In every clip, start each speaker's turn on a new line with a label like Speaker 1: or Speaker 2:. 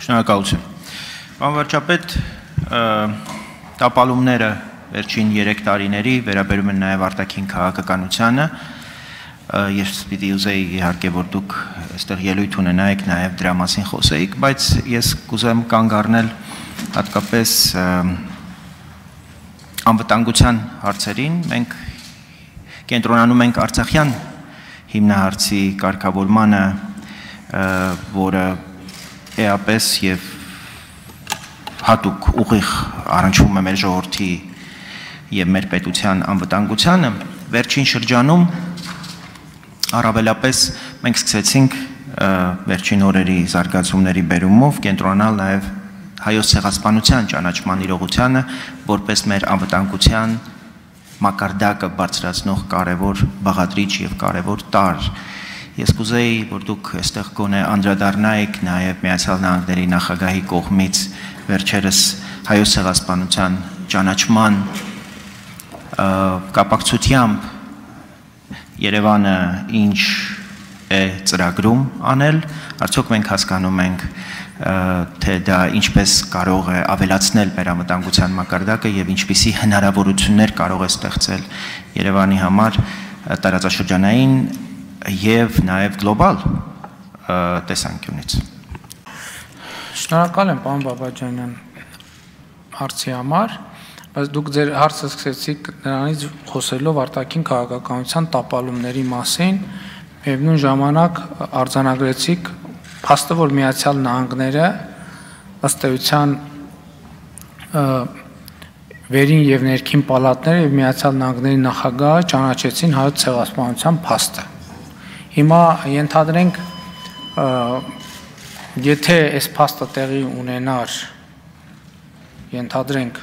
Speaker 1: Շնորհակալություն։ Պարոն վարչապետ, տապալումները վերջին 3 տարիների վերաբերում են նաև արտաքին քաղաքականությանը։ Ես պիտի ուզեի իհարկե որ դուք այստեղ ելույթ ունենայիք նաև դրա մասին խոսեիք, բայց ես կուզեմ կանգ առնել հատկապես անվտանգության հարցերին։ Մենք կենտրոնանում ենք Արցախյան հիմնահարցի կարգավորմանը, որը էապես եւ հատուկ ուղիղ առնչվում է մեր ժողովրդի եւ մեր պետության անվտանգությանը։ Վերջին շրջանում առավելապես մենք սկսեցինք վերջին օրերի զարգացումների բերումով կենտրոնալ նաև հայոց ցեղասպանության ճանաչման իրողությանը որպես մեր անվտանգության մակարդակը բարձրացնող կարևոր բաղադրիչ եւ կարևոր տարր։ Ես կուզեի, որ դուք այստեղ գոնե անդրադառնայիք նաև Միացյալ Նահանգների նախագահի կողմից վերջերս հայոց ցեղասպանության ճանաչման կապակցությամբ Երևանը ինչ է ծրագրում անել, արդյոք մենք հասկանում ենք, թե դա ինչպես կարող է ավելացնել մեր անվտանգության մակարդակը եւ ինչպիսի հնարավորություններ կարող է ստեղծել Երևանի համար տարածաշրջանային եւ նաեւ գլոբալ տեսանկյունից։
Speaker 2: Շնորհակալ եմ, պարոն Բաբաջանյան, հարցի համար, բայց դուք ձեր հարցը սկսեցիք նրանից խոսելով արտաքին քաղաքականության տապալումների մասին, միևնույն ժամանակ արձանագրեցիք փաստը, որ Միացյալ Նահանգները ըստ էության վերին եւ ներքին պալատները եւ Միացյալ Նահանգների նախագահը ճանաչեցին հայոց ցեղասպանության փաստը։ Հիմա ենթադրենք, եթե այս փաստը տեղի ունենար, ենթադրենք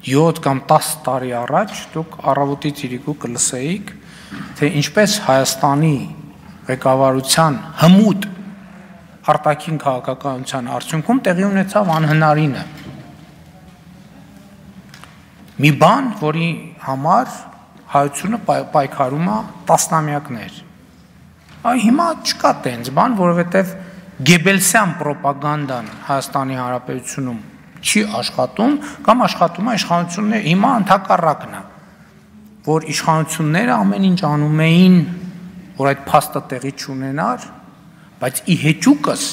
Speaker 2: 7 կամ 10 տարի առաջ, դուք առավոտից իրիկու կլսեիք, թե ինչպես Հայաստանի ղեկավարության հմուտ արտաքին քաղաքականության արդյունքում տեղի ունեցավ անհնարինը։ Մի բան, որի համար հայությունը պայքարում է տասնամյակներ։ Հիմա չկա տենց բան, որովհետև Գեբելսյան պրոպագանդան Հայաստանի Հանրապետությունում չի աշխատում, կամ աշխատում է իշխանությունները, հիմա ընդհակառակն է, որ իշխանությունները ամեն ինչ անում էին, որ այդ փաստը տեղի չունենար, բայց ի հեճուկս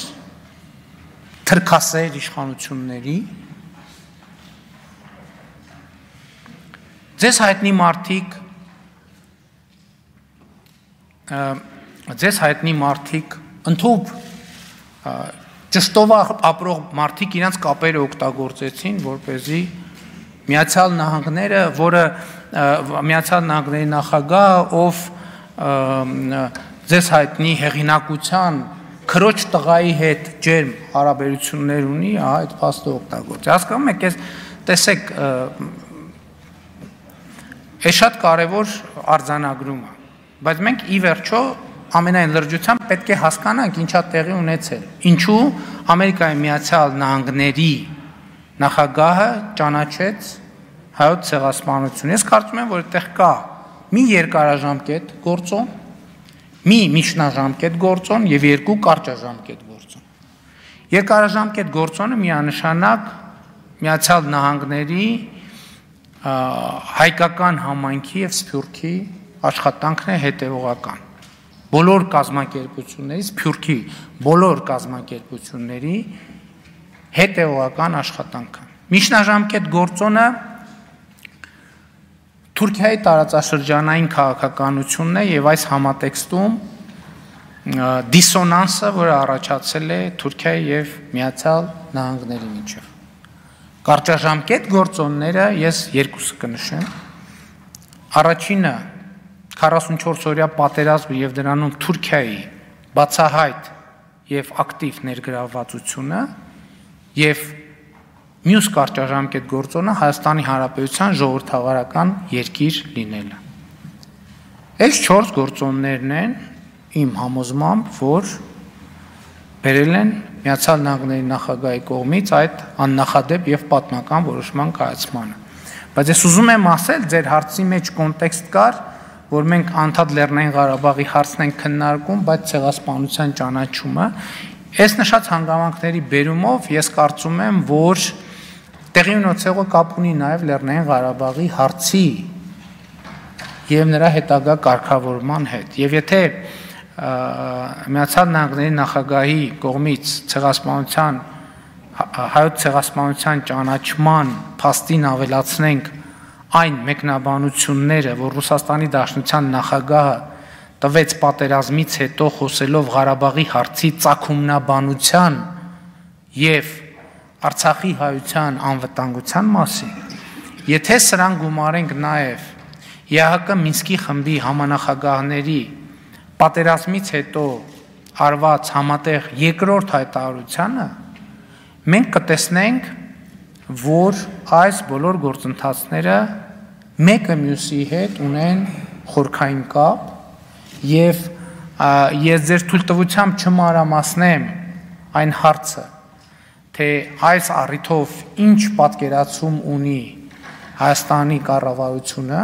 Speaker 2: թրքասեր իշխանությունների ձեզ հայտնի մարդիկ ընդհանուր ճշտով ապրող մարդիկ իրենց կապերը օգտագործեցին, որպեսզի Միացյալ Նահանգները, որը Միացյալ Նահանգների նախագահը, ով ձեզ հայտնի հեղինակության քրոջ տղայի հետ ջերմ հարաբերություններ ունի, այդ փաստը օգտագործի։ Հասկանում եք, տեսեք, այս շատ կարևոր արձանագրում է, բայց մենք ի վերջո ամենայն լրջությամբ պետք է հասկանանք ինչա տեղի ունեցել։ Ինչու Ամերիկայի Միացյալ Նահանգների նախագահը ճանաչեց հայոց ցեղասպանություն։ Ես կարծում եմ, որ այդտեղ կա մի երկարաժամկետ գործոն, մի միջնաժամկետ գործոն եւ 2 կարճաժամկետ գործոն։ Երկարաժամկետ գործոնը միանշանակ Միացյալ Նահանգների հայկական համայնքի եւ Սփյուռքի աշխատանքն է հետեւողական։ Բոլոր կազմակերպությունների, Սփյուռքի բոլոր կազմակերպությունների հետեւողական աշխատանքը։ Միջնաժամկետ գործոնը Թուրքիայի տարածաշրջանային քաղաքականությունն է եւ այս համատեքստում դիսոնանսը, որը առաջացել է Թուրքիայի եւ Միացյալ Նահանգների միջեւ։ Կարճաժամկետ գործոնները ես երկուսը կնշեմ։ Առաջինը 44-օրյա պատերազմը եւ դրանում Թուրքիայի բացահայտ եւ ակտիվ ներգրավվածությունը եւ մյուս կարճաժամկետ գործոնը Հայաստանի Հանրապետության ժողովրդավարական երկիր լինելը։ Այս 4 գործոններն են իմ համոզմամբ, որ բերել են Միացյալ Նահանգների նախագահի կողմից այդ աննախադեպ եւ պատմական որոշման կայացմանը։ Բայց ես ուզում եմ ասել, ձեր հարցի մեջ կոնտեքստ կար, որ մենք անդադ Լեռնային Ղարաբաղի հարցն ենք քննարկում, բայց ցեղասպանության ճանաչումը Այս նշած հանգամանքների բերումով ես կարծում եմ, որ տեղի ունեցողը կապ ունի նաև Լեռնային Ղարաբաղի հարցի եւ նրա հետագա կարգավորման հետ։ Եվ եթե Միացյալ Նահանգների նախագահի կողմից հայոց ցեղասպանության ճանաչման փաստին ավելացնենք այն մեկնաբանությունները, որ Ռուսաստանի Դաշնության նախագահը տվեց պատերազմից հետո խոսելով Ղարաբաղի հարցի ծագումնաբանության եւ Արցախի հայության անվտանգության մասին, եթե սրան գումարենք նաեւ ԵԱՀԿ Մինսկի խմբի համանախագահների պատերազմից հետո արված համատեղ երկրորդ հայտարարությանը, մենք կտեսնենք, որ այս բոլոր գործընթացները մեկը մյուսի հետ ունեն խորքային կապ եւ ես ձեր թույլտվությամբ չմանրամասնեմ այն հարցը, թե այս առիթով ինչ պատկերացում ունի Հայաստանի կառավարությունը,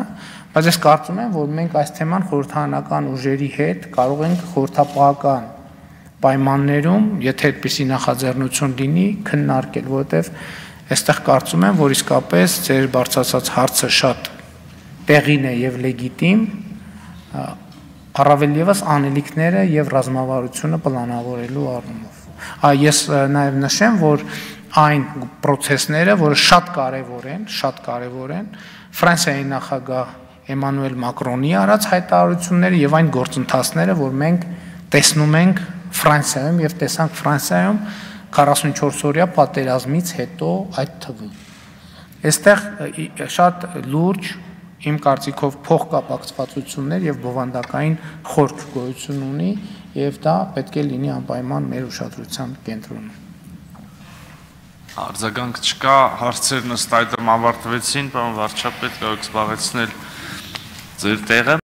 Speaker 2: բայց ես կարծում եմ, որ մենք այս թեման խորհրդարանական ուժերի հետ կարող ենք խորհրդապահական պայմաններում, եթե այդպիսի նախաձեռնություն լինի, քննարկել, որովհետև այստեղ կարծում եմ, որ իսկապես ձեր բարձրացած հարցը շատ տեղին է եւ լեգիտիմ, առավել եւս անելիքները եւ ռազմավարությունը պլանավորելու առումով։ Ես նաեւ նշեմ, որ այն process-ները, որը շատ կարևոր են, Ֆրանսիայի նախագահ Էմանուել Մակրոնի արած հայտարարությունները եւ այն գործընթացները, որ մենք տեսնում ենք Ֆրանսիայում եւ տեսանք Ֆրանսիայում 44-օրյա պատերազմից հետո այդ թվում։ Այստեղ շատ լուրջ իմ կարծիքով փոխկապակցվածություններ եւ բովանդակային խորք գոյություն ունի եւ դա պետք է լինի անպայման մեր ուշադրության կենտրոնում։
Speaker 3: Արձագանք չկա, հարցերն ըստ այդմ ավարտվեցին, պարոն վարչապետ, կարող եք զբաղեցնել ձեր տեղը։